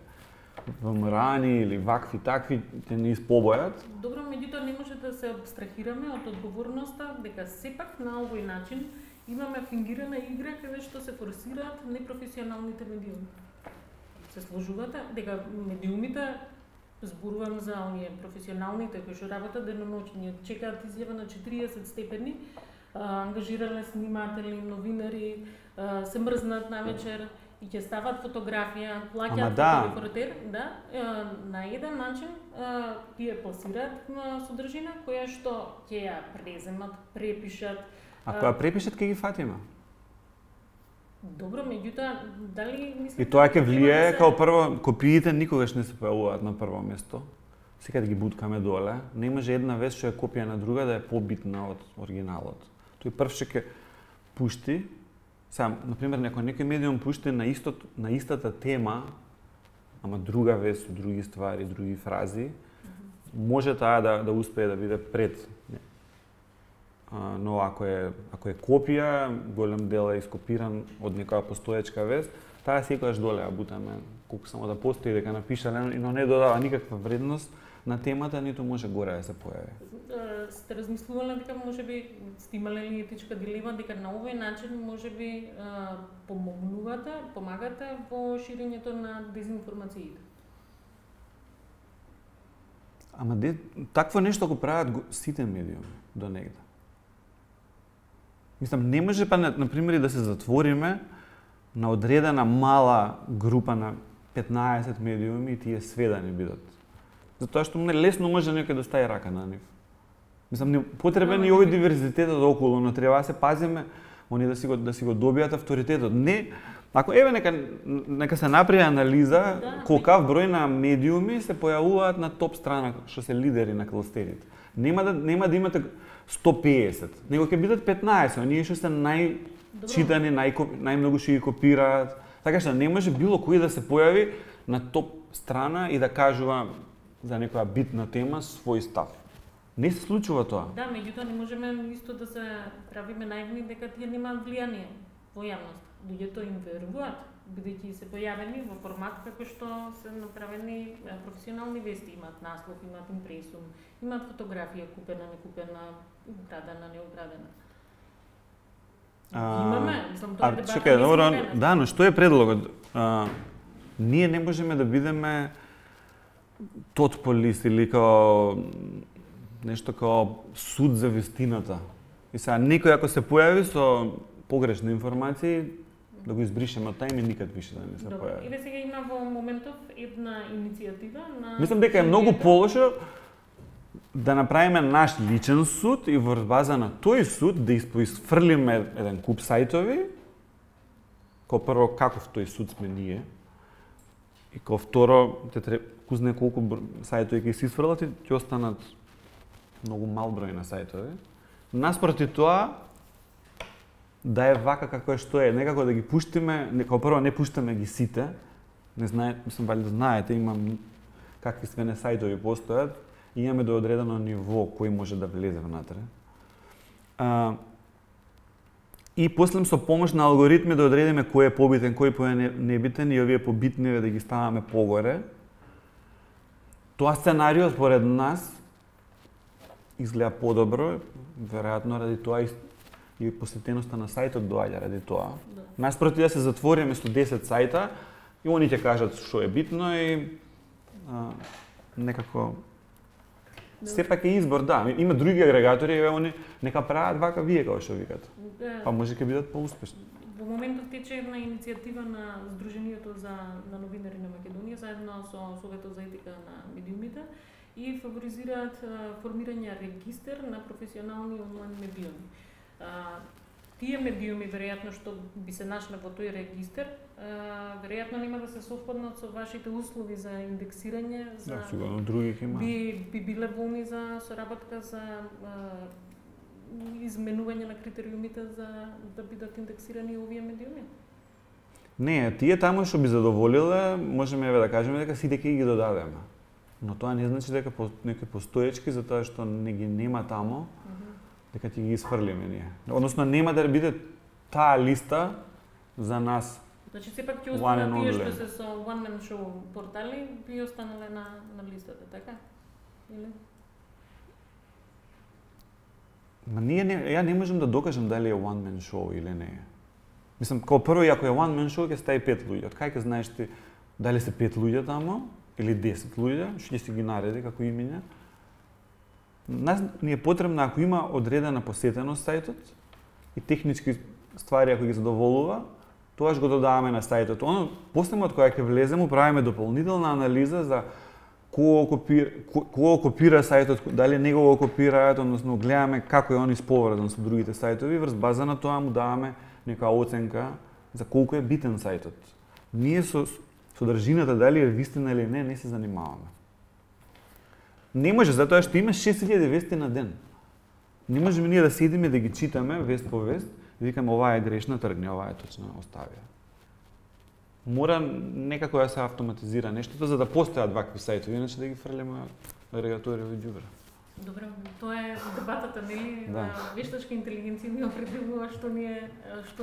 ВМРО-ни или вакви такви те не испобојат. Добро, меѓутоа не може да се абстрахираме од одговорноста дека сепак на овој начин имаме фингирана игра каде што се форсираат непрофесионалните медиуми. Се сложувате дека медиумите, зборувам за оние професионалните кои што работат деноноќно, чекаат изјава на 40 степени, ангажирале сниматели, новинари, се мрзнат навечер и ќе стават фотографија, плаќаат фотографер, на еден начин тие пласираат содржина која што ќе ја преземат, препишат. А која препишат ќе ги фатиме? Добро, меѓутоа, дали мислите... И тоа ќе влие, као прво, копиите никогаш не се појавуваат на прво место. Секад ги буткаме доле. Не може една вест што е копија на друга да е побитна од оригиналот. Тој прв ќе пушти. Сам, например, некој медиум пушти на истата тема, ама друга вест, други ствари, други фрази, може таа да успее да биде пред. Но ако е копија, голем дел е ископиран од некоја постоечка вест, таа секогаш доле ја бутаме, колку само да постои дека напишале, но не додава никаква вредност на темата, ниту може горе да се појави. Сте размислувале дека можеби сте имале ли етичка дилема дека на овој начин можеби помагате во ширењето на дезинформациите? Ама такво нешто го прават сите медиуми до негде. Мислам, не може на пример да се затвориме на одредена мала група на 15 медиуми и тие све да не бидат. Затоа што лесно може некој да стави рака на нив. Мислам, потребен и овој диверзитетот околу, но треба да се пазиме они да си го добијат авторитетот. Не, ако нека се направи анализа колкав број на медиуми се појавуваат на топ страна што се лидери на кластерите. Нема да имате 150, него ќе бидат 15, оние што се најчитани, најмногу што ги копираат. Така што не може било кој да се појави на топ страна и да кажува за некоја битна тема свој став. Не се случува тоа. Да, меѓутоа не можеме исто да се правиме наивни дека тие немаат влијание во јавност. Луѓето им веруваат, бидејќи се појавени во формат како што се направени професионални вести, имаат наслов, имаат импресум, имаат фотографија купена, некупена, украдена, неукрадена. Имаме, мислам, тоа е дебата. Чекај, добро, да, но што е предлогот? Ние не можеме да бидеме тотполис или као нешто као суд за вистината. И сега некој ако се појави со погрешни информации, да го избришеме од тај и никад више да не се појави. Еве сега има во моментов една иницијатива на... Мислам дека е многу полошо да направиме наш личен суд и во база на тој суд да испоисфрлиме еден куп сајтови, као прво каков тој суд сме ние, и као второ, кузне колку сајтови ќе се исфрлат и ќе останат многу мал број на сајтови. Наспроти тоа, да е вака како е што е, некако да ги пуштиме, како прво не пуштаме ги сите, не знае, мислам вали да знаете, имам какви све не сајтови постојат и имаме до одредено ниво кој може да влезе внатре. И после со помош на алгоритми да одредиме кој е побитен, кој е небитен и овие побитниве да ги ставаме погоре. Тоа сценарио според нас изгледа подобро, веројатно ради тоа и посетеноста на сајтот доаѓа ради тоа. Наспроти да се затвориме со 10 сајта и они ќе кажат што е битно и некако сепак е избор, да. Има други агрегатори, они нека прават вака вие како што викат. Па може ќе бидат поуспешни. Во моментот тече една иницијатива на Сдруженијето на новинари на Македонија заедно со Советот за етика на медиумите и фаворизираат формирање регистер на професионални онлайн медиуми. тие медиуми веројатно што би се нашле во тој регистар, веројатно нема да се совпаднат со вашите услови за индексирање, за сигурно други ќе има. Би биле волни за соработка за изменување на критериумите за да бидат индексирани овие медиуми? Не, тие таму што би задоволиле, можеме да кажеме дека сите ќе ги додадеме. Но тоа не значи дека некои постоечки за тоа што не ги нема таму, дека ќе ги изфрлиме ние. Односно нема да биде таа листа за нас. Значи сепак ќе останат тие што се со one man show портали би останале на листата, така? Или? Ма ја не можам да докажам дали е one man show или не е. Мислам, као прво, ако е one man show, ќе стаи 5 луѓе. Од кај ќе знаеш ти дали се 5 луѓе таму или 10 луѓе, што ќе си ги нареди како имиња. Нас ни е потребно ако има одредена посетеност сајтот и технички ствари ако ги задоволува, тоаш го додаваме на сајтот. Оно после од кога ќе влеземе, правиме дополнителна анализа за кого копира сајтот, дали него го копираат, односно гледаме како е он исповрзан со другите сајтови, врз база на тоа му даваме нека оценка за колку е битен сајтот. Ние со содржината дали е вистина или не се занимаваме. Не може, затоа што има 6000 вести на ден. Не можеме ние да седиме да ги читаме вест по вест и викаме оваа е грешна, тргни, оваа е точна, остави ја. Мора некако да се автоматизира нештото за да постојат вакви сајтови, иначе да ги фрлиме агрегатори во ѓубре. Добро, тоа е дебатата, нели? Да. Вештачка интелигенција ни определува што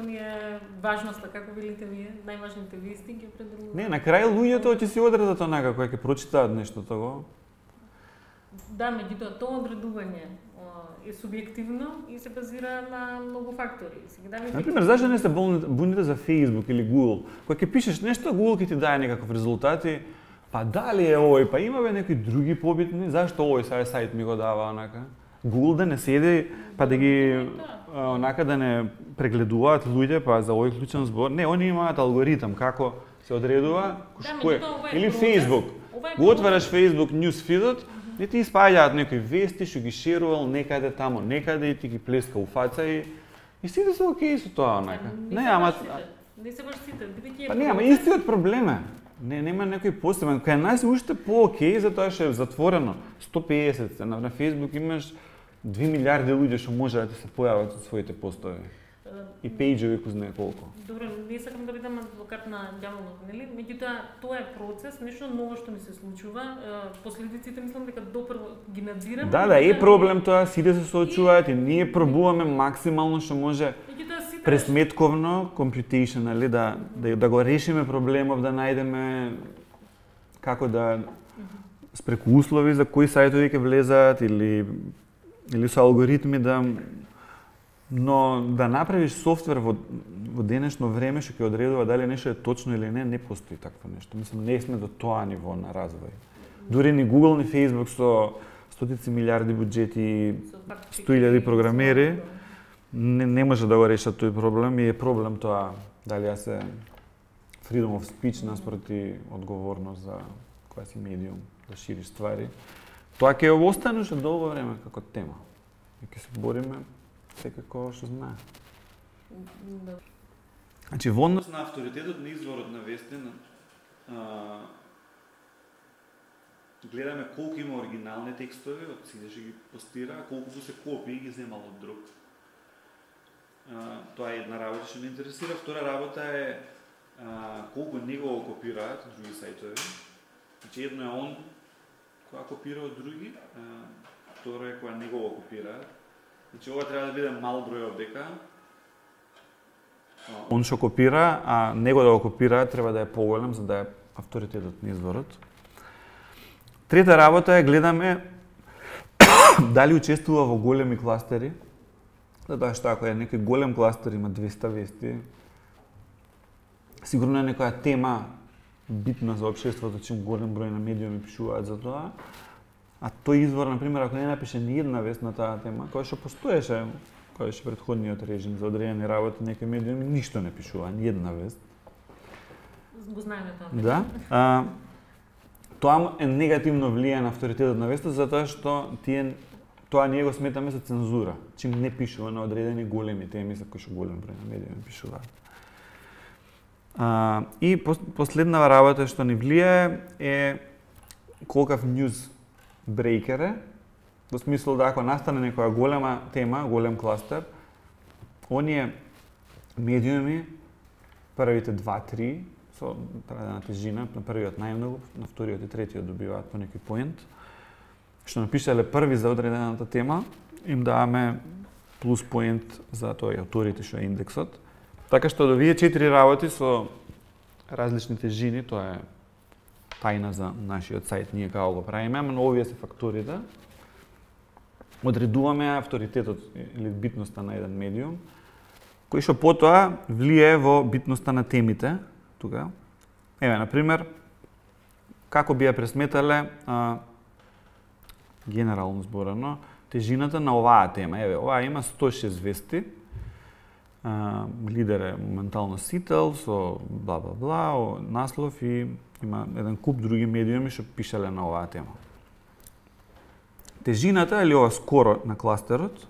ни е важноста, како велите вие, најважните вести ги определува. Не, на крај луѓето ќе си одредат онака кој ќе прочитаат нештото го. Да, меѓутоа тоа одредување е субјективно и се базира на многу фактори. Например, зашто не се буните за Facebook или Google? Кога ќе пишеш нешто, Google ќе ти даде некаков резултати, па дали е овој, па има некои други побитни, зашто овој сајт ми го дава онака? Google да не седи, па да ги онака да не прегледуваат луѓе, па за овој клучен збор. Не, они имаат алгоритам како се одредува, кој или Facebook. Го отвараш Facebook newsfeed-от, и ти испаѓаат некои вести што ги шерувал некаде тамо, некаде и ти ги плеска у фаца и сите се окей со тоа онака. Не се баш сите, бидејќи па не, ама истиот проблем е. Нема некој посебен. Кај нас е уште по-окей затоа што е затворено. 150 на Facebook имаш 2 милиарди луѓе што може да ти се појават со своите постови. И пејџови кој знае колку. Добро, не сакам да бидам адвокат на ѓаволот, нели? Меѓутоа, тоа е процес, нешто ново што ни се случува. Последиците мислам дека допрво ги надзираме. Да, е проблем тоа, сите се соочуваат и ние пробуваме максимално што може пресметковно, computationally, да го решиме проблемов, да најдеме како да спреку услови за кои сајтови ќе влезаат или со алгоритми но да направиш софтвер во денешно време што ќе одредува дали нешто е точно или не постои такво нешто. Мислам, не сме до тоа ниво на развој. Дури ни Google, ни Facebook со стотици милиарди буџети и 100.000 програмери не може да го решат тој проблем и е проблем тоа дали ја се freedom of speech наспроти одговорност за која си медиум да шириш ствари. Тоа ќе остане уште долго време како тема. И ќе се бориме секако што знае. Значи, во однос на авторитетот на изворот на вести, гледаме колку има оригинални текстови од сите што ги постира, колку се копии ги земал од друг. Тоа е една работа што ме интересира. Втора работа е колку него го копираат други сајтови. Значи, едно е он која копира од други, второ е која него го копираат. Значи, ова треба да биде мал број овдека. Он што копира, а него да го копира треба да е поголем за да е авторитетот на изворот. Трета работа е гледаме дали учествува во големи кластери. Затоа што ако е некој голем кластер има 200 вести, сигурно е некоја тема битна за општеството, чим голем број на медиуми пишуваат за тоа. А тој извор, например, ако не напише ни една вест на таа тема, која што постоеше, која што претходниот режим за одредени работи, некои медиуми ништо не пишува, ни една вест. Го знаеме тоа. Да. Тоа е негативно влијае на авторитетот на веста, затоа што Тоа ние го сметаме за цензура, чим не пишува на одредени големи теми за кои што голем број на медиуми пишуваат. И последна работа што ни влијае е колкав news breaker е, во смисол да ако настане некоја голема тема, голем кластер, оние медиуми, првите 2-3, со одредена тежина, на првиот најмногу, на вториот и третиот добиваат по некој поент, што напишале први за одредената тема, им даваме плюс поент за тој авторите што е индексот. Така што од овие 4 работи со различни тежини, тоа е тајна за нашиот сајт, ние како го правиме, но овие се факторите. Одредуваме авторитетот или битноста на еден медиум, кој што потоа влијае во битноста на темите. Тука. Еве, например, како би ја пресметале генерално зборено, тежината на оваа тема. Еве, оваа има 106 вести, лидер е моментално Сител со бла-бла-бла, наслов и има еден куп други медиуми што пишале на оваа тема. Тежината, или ова скоро на кластерот,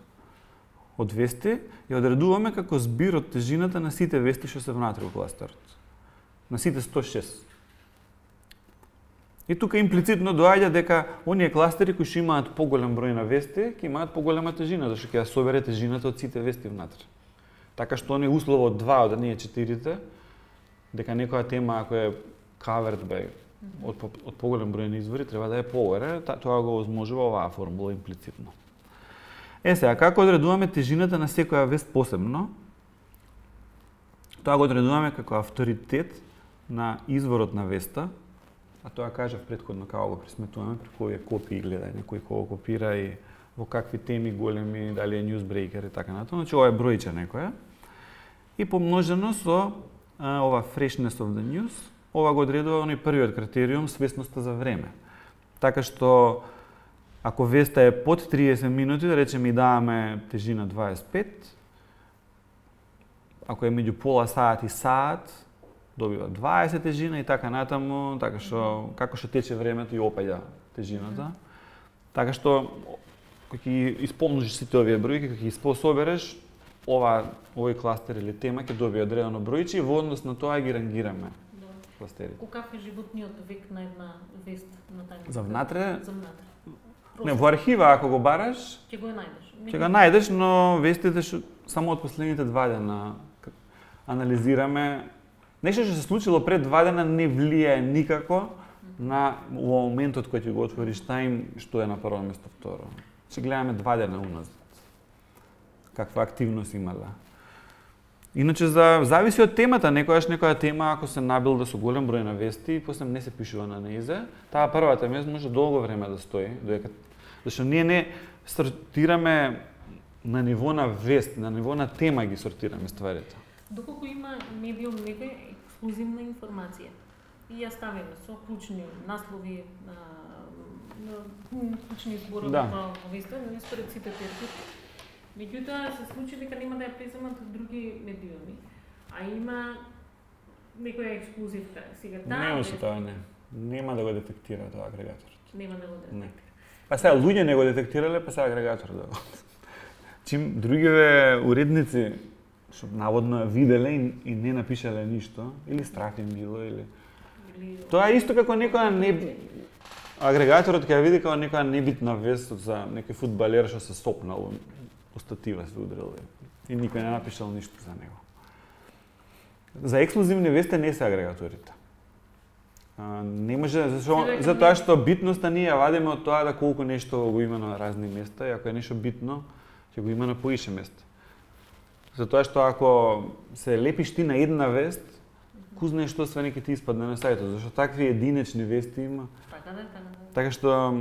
од вести, ја одредуваме како збир од тежината на сите вести што се внатре во кластерот. На сите 106. И тука имплицитно доаѓа дека оние кластери кои што имаат поголем број на вести, ќе имаат поголема тежина, зашто ќе ја собере тежината од сите вести внатре. Така што оние услово од 2 од ние 4-те, дека некоја тема ако е covered by од поголем број на извори треба да е поголе, тоа го возможува оваа формула имплицитно. Сега, како одредуваме тежината на секоја вест посебно? Тоа го одредуваме како авторитет на изворот на веста, а тоа кажав претходно како го пресметуваме, преку овие копии гледање, кој кого копира и во какви теми големи, дали е newsbreaker и така натаму. Значи ова е бројче некоја. И помножено со ова freshness of the news, ова го одредува оној првиот критериум, свесноста за време. Така што ако веста е под 30 минути, да речеме и даваме тежина 25, ако е меѓу пола саат и саат, добива 20 тежина и така натаму, така што како што тече времето и опаѓа тежината. Така што кога ќе исполниш сите овие бројки, кога ќе ги собереш, овој кластер или тема ќе добие одредено бројче и во однос на тоа ги рангираме кластерите. Каков е животниот век на една вест на тајна? За внатре? За внатре. Не, во архива ако го бараш, ќе го најдеш. Ќе го најдеш, но вестите што само од последните 2 дена анализираме. Нешто што се случило пред 2 дена не влијае никако на во моментот кој ќе го отвориш тајм што е на прво место, второ. Ќе гледаме 2 дена уназад. Каква активност имала. Иначе зависи од темата, некоја тема ако се набилда со голем број на вести и после не се пишува на неизе, таа првата вест може долго време да стои, зашто ние не сортираме на ниво на вест, на ниво на тема ги сортираме стварите. Доколку има медиум некоја ексклузивна информација и ја ставиме со клучни наслови, клучни зборови во веста, не според сите термини. Меѓутоа се случи дека нема да ја преземат други медиуми, а има некоја ексклузивка. Сега Не може тоа не. Нема да го детектира тоа агрегаторот. Нема да го детектира. Па сега луѓе не го детектирале, па сега агрегаторот да го. Чим другиве уредници што наводно ја виделе и не напишале ништо, или страх им било, или тоа е исто како некоја агрегаторот ќе ја види како некоја небитна вест за некој фудбалер што се сопнал, остатива се удрил и никој не напишал ништо за него. За ексклузивни вести не се агрегаторите. Не може, затоа што битноста ние ја вадиме од тоа да колку нешто го има на разни места и ако е нешто битно, ќе го има на поише места. Затоа што ако се лепиш ти на една вест, ку знаеш што све ќе ти испадне на сајтот, зашто такви единечни вести има. Така што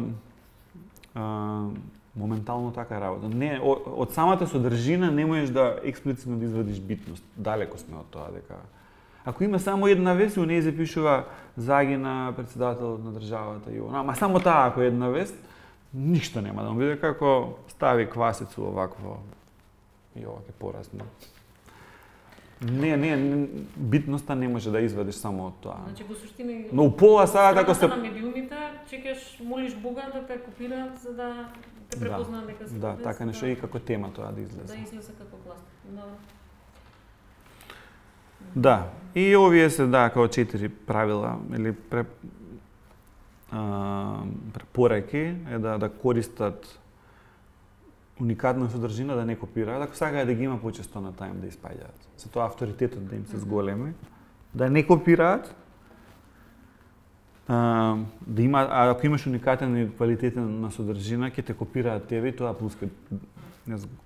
моментално така работа. Не, од самата содржина не можеш да експлицитно да извадиш битност. Далеко сме од тоа дека ако има само една вест, у неј се пишува загина председателот на државата и ама само таа ако е една вест, ништо нема да му биде како стави квасицу овакво и ова ќе порасне. Не, битноста не може да извадиш само од тоа. Значи во суштина Но упола сега како се на медиумите, чекаш, молиш Бога да те копираат за да те препознаат дека си. Да, така нешто и како тема тоа да излезе. Да излезе како кластер. Да, и овие се како 4 правила или препораки е да користат уникатна содржина, да не копираат, ако сакаат да ги има почесто на тајм да испаѓаат. За тоа авторитетот да им се зголеми, да не копираат, да има, ако имаш уникатен и квалитетен на содржина, ќе те копираат тебе и тоа плюс ќе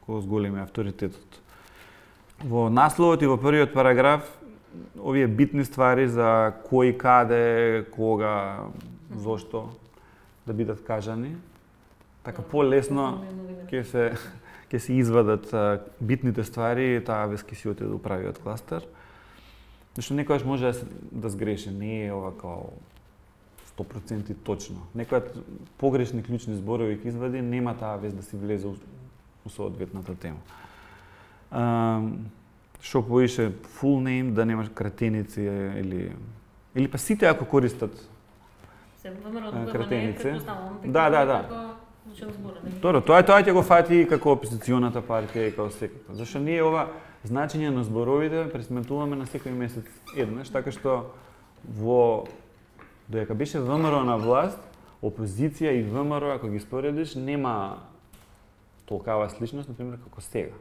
зголеми авторитетот. Во насловот и во првиот параграф овие битни ствари за кој, каде, кога, зошто да бидат кажани. Така полесно ќе се извадат битните ствари и таа веќе си отиде до правиот кластер. Зашто некојаш може да сгреши, не е ова као 100% точно. Некојат погрешни клучни зборови ќе извади, нема таа вест да си влезе у соодветната тема. Што поише full name, да немаш кратеници или па сите ако користат кратеници. Да. Добро, тоа ќе го фати како опозиционата партија и како секако. Зашто ние ова значење на зборовите пресметуваме на секој месец еднаш, така што додека беше ВМРО на власт, опозиција и ВМРО, ако ги споредиш, нема толкава сличност, например, како сега.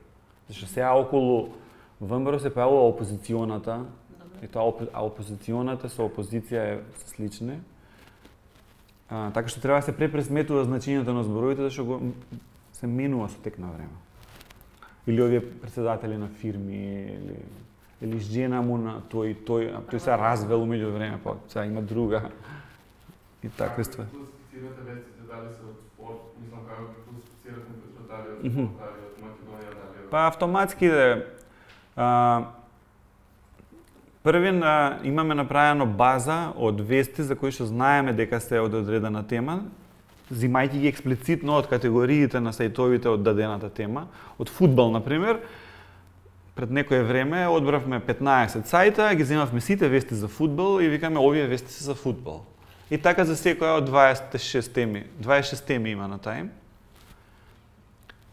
Зашто сега околу ВМРО се појавува опозиционата, и тоа опозиционата со опозиција се слични. Така што треба да се препресметува значењето на зборовите, зашто се менува со тек на време. Или овие председатели на фирми, или жена му на тој се развел меѓу време, па сега има друга и такви ствари. Класифицирате вестите, дали се од спорт, мислам како ги класифицирате дали од спорт, дали од Македонија, дали од... Па автоматски првин имаме направено база од вести за кои што знаеме дека се од одредена тема, зимајќи ги експлицитно од категориите на сајтовите од дадената тема. Од фудбал, например, пред некое време одбравме 15 сајта, ги земавме сите вести за фудбал и викаме овие вести се за фудбал. И така за секоја од 26 теми има на тајм.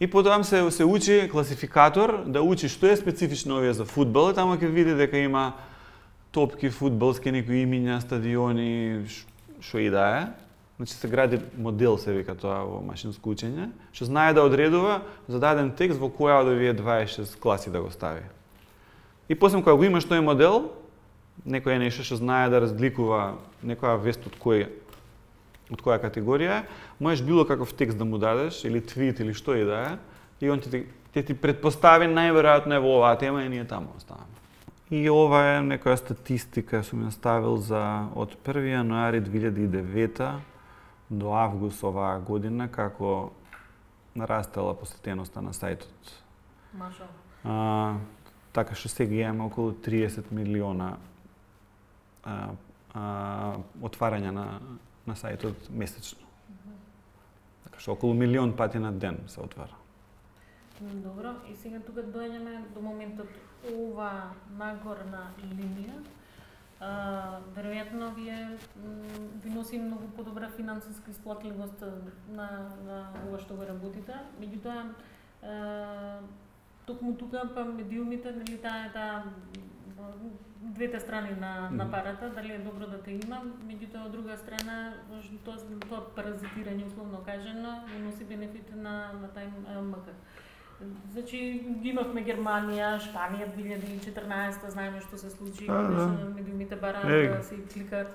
И потоа се учи класификатор да учи што е специфично овие за фудбал, и таму ќе види дека има топки фудбалски, некои имиња, стадиони, што и да е. Значи се гради модел, се вика тоа во машинско учење, што знае да одредува за даден текст во која од овие 26 класи да го стави. И после кога го имаш тој модел, некој е нешто што знае да разликува некоја вест од која категорија, можеш било каков текст да му дадеш, или твит, или што и да е, и он ќе ти предпостави најверојатно е во оваа тема и ние таму оставаме. И ова е некоја статистика сум ја ставил од 1 јануари 2009 до август оваа година, како нарастела посетеноста на сајтот. Машалла. Така што сега имаме околу 30 милиона отварања на сајтот месечно. Така што околу 1 милион пати на ден се отвара. Добро, и сега тука доаѓаме до моментот ова нагорна линија. Веројатно ви носи многу подобра финансиска исплатливост на ова што го работите. Меѓутоа, токму тука па медиумите, нели таа двете страни на парата, дали е добро да те има, меѓутоа од друга страна тоа паразитирање условно кажано носи бенефит на тај МК. Значи, имавме Германија, Шпанија 2014, знаеме што се случи, медиумите бараат да си кликат,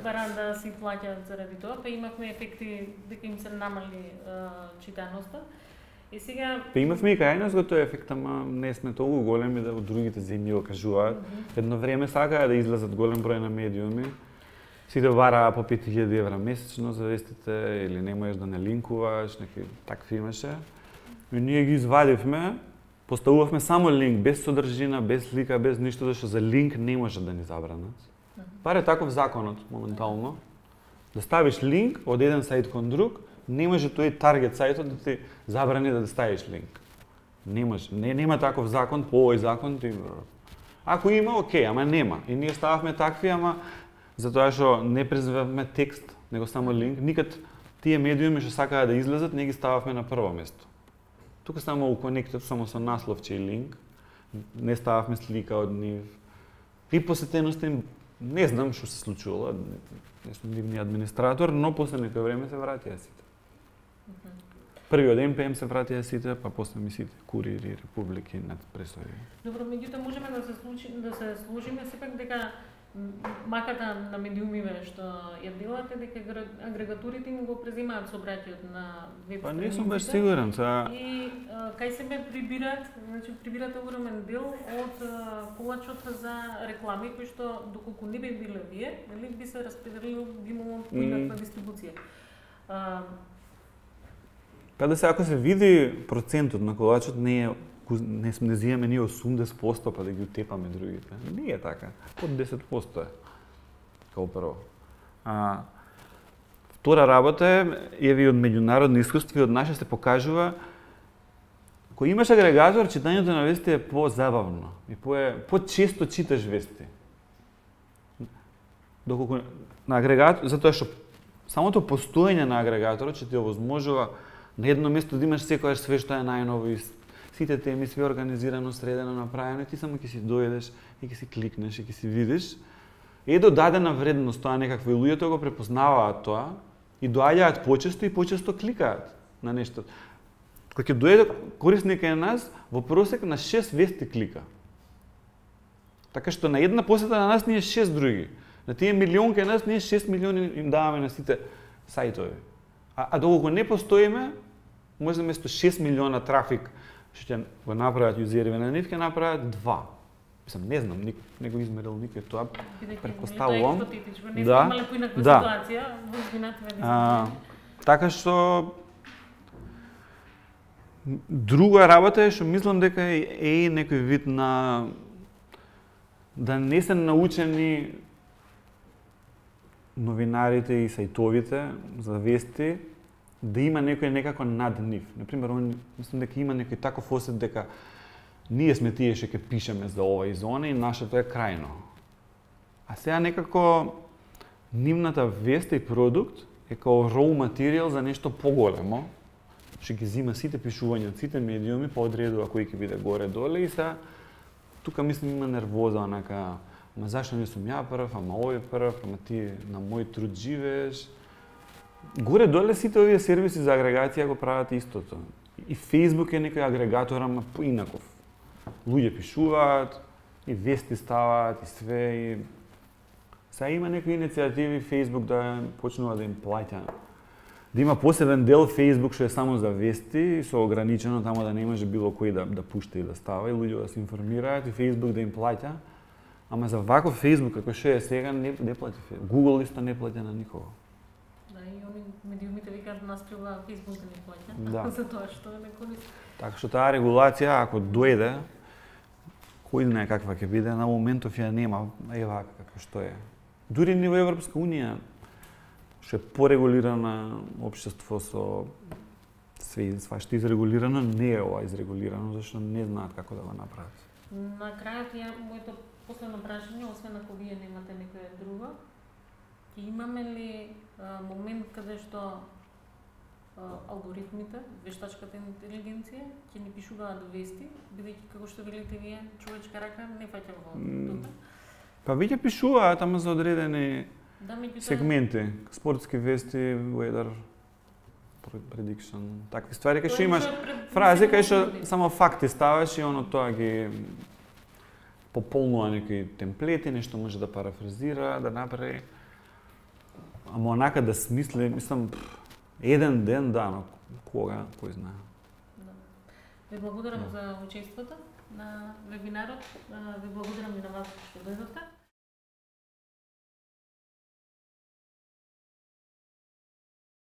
бараат да си плаќаат заради тоа, па имавме ефекти дека им се намали читаноста. И сега имавме и кај нас го тој ефект, ама не сме толку големи да од другите земји го кажуваат. Едно време сакаа да излезат голем број на медиуми. Сите бараа по 5000 евра месечно за вестите или не можеш да не линкуваш, некои такви имаше. И ние ги извадивме, поставувавме само линк, без содржина, без слика, без ништо, зашто за линк не може да ни забранат. Бар е таков законот моментално. Да ставиш линк од еден сајт кон друг, не може тој таргет сајтот да ти забрани да ставиш линк. Не може. Нема таков закон, по овој закон ти... Ако има, окей, ама нема. И ние стававме такви, ама затоа што не презивавме текст, него само линк. Никад тие медиуми што сакаа да излезат, не ги стававме на прво место. Тука само у конектот, само со насловче и линк. Не стававме слика од нив. И посетеноста им, не знам што се случувало, не сум нивни администратор, но после некој време се вратија сите. Првиот МПМ се вратија сите, па после ми сите Курири, Републики, над пресови. Добро, меѓутоа можеме да се сложиме сепак дека макар на медиумиве што ја делате, дека агрегатурите им го преземаат сообраќајот на веб страниците. Па не сум баш сигурен, И кај себе прибират, значи прибират огромен дел од колачот за реклами кои што доколку не би биле вие, нели би се распределило, би имало поинаква дистрибуција. Па да се ако се види процентот на колачот не зимаме ние 80% па да ги утепаме другите. Не е така. Под 10% е. Као прво. Втора работа е од меѓународни искуства и од наше се покажува кога имаш агрегатор, читањето на вести е по-забавно и по-често читаш вести. Доколку на агрегатор, затоа што самото постоење на агрегаторот ќе ти овозможува на едно место да имаш секојаш све што е најново и сите теми, све организирано, средено, направено, и ти само ќе си дојдеш и ќе си кликнеш и ќе си видиш. Е додадена вредност тоа некакво и луѓето го препознаваат тоа и доаѓаат почесто и почесто кликаат на нешто. Кога ќе дојде корисник кај нас, во просек на 6 вести клика. Така што на една посета на нас ние 6 други. На тие милион кај нас ние 6 милиони им даваме на сите сајтови. А доколку не постоиме, може место 6 милиона трафик што ќе го направат јузериви на нив, ќе направат 2. Мислам, не знам, не го измерил никој тоа, претпоставувам. Да, ситуација, така што друга работа е што мислам дека е некој вид на да не се научени новинарите и сајтовите за вести, да има некој некако над нив. Например, мислам дека има некој таков осет дека ние сме тие што ќе пишеме за ова и за она и нашето е крајно. А сега некако нивната вест и продукт е као raw материјал за нешто поголемо, што ги зима сите пишувања од сите медиуми, па одредува кој ќе биде горе-доле и сега тука мислам има нервоза, онака, ама зашто не сум ја прв, ама овој прв, ама ти на мој труд живееш. Горе-доле сите овие сервиси за агрегација го прават истото. И Facebook е некој агрегатор, ама поинаков. Луѓе пишуваат, и вести ставаат, и све, и... Сега има некои иницијативи Facebook да почнува да им плаќа. Да има посебен дел Facebook што е само за вести, и со ограничено тамо да не може било кој да пушта и да става, и луѓе да се информираат, и Facebook да им плаќа. Ама за ваков Facebook, како што е сега, не плаќа Facebook. Google исто не плаќа на никого. Медиумите викаат нас треба Facebook да ни плаќа, да. За тоа што не користи. Така што таа регулација, ако дојде, кој знае каква ќе биде, на моментов ја нема, е вака како што е. Дури ниво Европска Унија, што е порегулирана општество со све свашто изрегулирано, не е ова изрегулирано, зашто не знаат како да го направат. На крајот моето последно прашање, освен ако вие немате некоја друга, ќе имаме ли момент каде што алгоритмите, вештачката интелигенција ќе ни пишуваат вести, бидејќи како што велите вие, човечка рака не фаќа во тука? Па веќе пишуваат, ама за одредени сегменти, спортски вести, weather prediction, такви ствари, кај што имаш фрази кај што само факти ставаш и оно тоа ги пополнува некои темплети, нешто може да парафразира, да направи. Ама онака да смисли, мислам, еден ден, да, но кога, кој знае. Да. Ви благодарам за учеството на вебинарот. Ви благодарам и на вас што дојдовте.